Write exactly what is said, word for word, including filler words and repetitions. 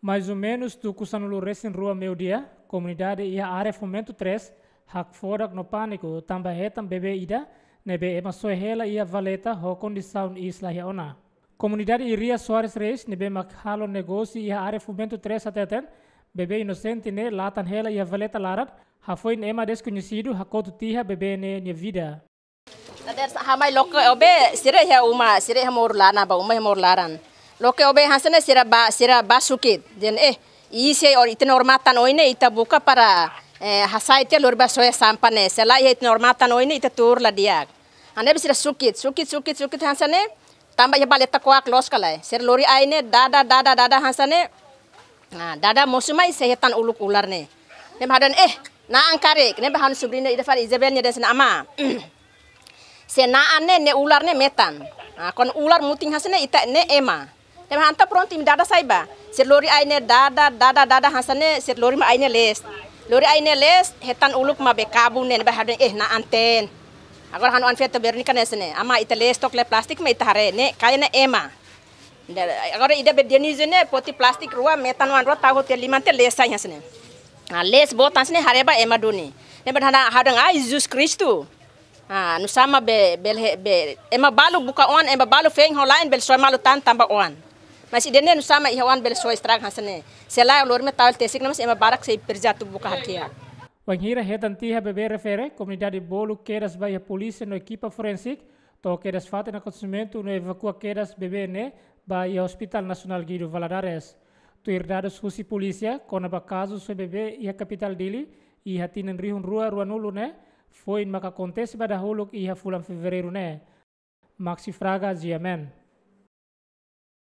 Mais ou menus tuku sanulu resin rua meiudia, komunidade iha área Fomento três hakfodak no pániku tanba hetan bebé ida ne'ebé ema soe hela iha valeta ho kondisaun iis la iha ona. Komunidade Iria Soares Reis ne'ebé mak halo negósiu iha área Fomento três hateten, bebé inosente ne'e latan hela iha valeta laran, hafoin ema deskoñesidu hakotu tiha bebé ne'e nia vida. Dadeer-saan ha'u mai loke ó-been, sira iha uma, sira iha moru laran, ba uma iha moru laran. Loke ó-been hanesan ne'e sira bá, sira bá sukit. Dehan, eh, iis-ne'e ó-nia, ita-nia ormaun tan oin ne'e ita buka para, eh, hasai tiha lori bá soe sampah ne'e. Se la iha ita-nia ormaun tan oin ne'e ita tuur la di'ak. Hanesan ne'e sira sukit, sukit, sukit, sukit hanesan ne'e. Tanba iha valeta kuak loos ka lae. Sira lori ain ne'e dada, dada, dada hanesan ne'e. Nah, dada mosu mai sei hetan uluk ular ne'e. Ne'ebé ha'u dehan, eh, na'an karik, ne'ebé ha'u-nia subriña ida fali Isabel nia dehan hanesan ne'e, amá. Se na'an ne'e, ne'e ular ne'e metan. Ah, kuandu ular mutin hanesan ne'e ita ne'e ema. Ne'ebé ha'u entaun prontu imi dada sai bá. Sira lori ain ne'e dada, dada, dada hanesan ne'e, sira lori mai ain ne'e lees. Lori ain ne'e lees, hetan uluk maibé kabun ne'e, ne'ebé ha'u dehan, eh, na'an-teen. Agora ha'u-nia oan feto Veronica hanesan ne'e, amá ita lees took lai plástiku mak ita haree, ne'e kayak ne'e ema. Nda, agora ida be Dionísio ne'e foti plástiku rua, metan oan rua, tau hotu liman tiha lees sai hanesan ne'e. Ah, lees boot hanesan ne'e haree ba ema duni. Ne'ebé ha'u dehan, ha'u dehan, ai, Jesus Kristu. Ah, nusá mak be, bele, be, ema balu buka oan, ema balu feen ho la'en bele soe malu tan tanba oan. Mas ida-ne'e nusá mak iha oan bele soe estraga hanesan ne'e. Se lae lori mai tau iha tesik ne'e mas ema barak sei presiza atu buka hakiak. Wainhira hetan tiha bebé refere, komunidade bolu kedas ba iha polísia no ekipa forénsiku, to'o kedas fatin akontesimentu no evakua kedas bebé ne'e ba iha Hospital Nasionál Guido Valadares. Tuir dadus husi polísia, kona-ba kazu soe bebé iha kapitál Dili, iha tinan rihun rua ruanulu ne'e, foin maka akontese ba dahuluk iha fulan Fevereiru ne'e. Maxi Fraga, G M N.